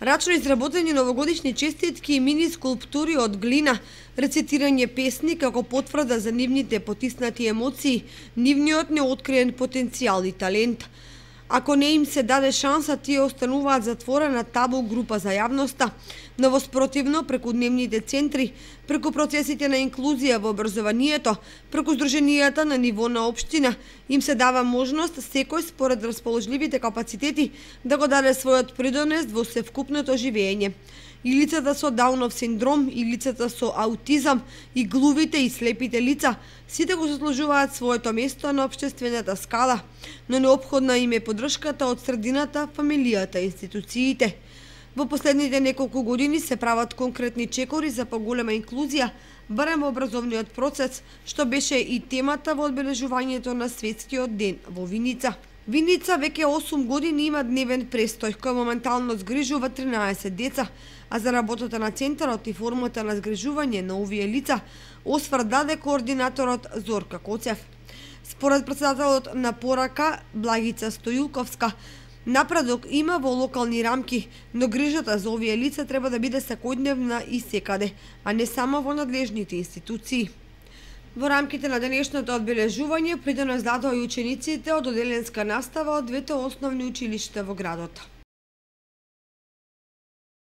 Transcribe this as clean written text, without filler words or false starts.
Рачно изработени новогодишни честитки и мини скулптури од глина, рецитирање песни како потврда за нивните потиснати емоции, нивниот неоткриен потенцијал и талент. Ако не им се даде шанса, тие остануваат затворена табу група за јавноста, но воспротивно преку дневните центри, преку процесите на инклузија во образованието, преку здруженијата на ниво на општина, им се дава можност секој според расположливите капацитети да го даде својот придонес во севкупното живење. И лицата со Даунов синдром, и лицата со аутизам, и глувите и слепите лица, сите го заслужуваат своето место на општествената скала, но неопходна им е поддршката од средината, фамилијата и институциите. Во последните неколку години се прават конкретни чекори за поголема инклузија, барем во образовниот процес, што беше и темата во одбележувањето на Светскиот ден во Виница. Виница веќе 8 години има дневен престој, кој моментално згрижува 13 деца, а за работата на центарот и формата на згрижување на овие лица осврт даде координаторот Зорка Коцев. Според председателот на Порака Благица Стојулковска, напредок има во локални рамки, но грижата за овие лица треба да биде секојдневна и секаде, а не само во надлежните институции. Во рамките на денешното одбележување придонес дадоа и учениците од оделенска настава од двете основни училишта во градот.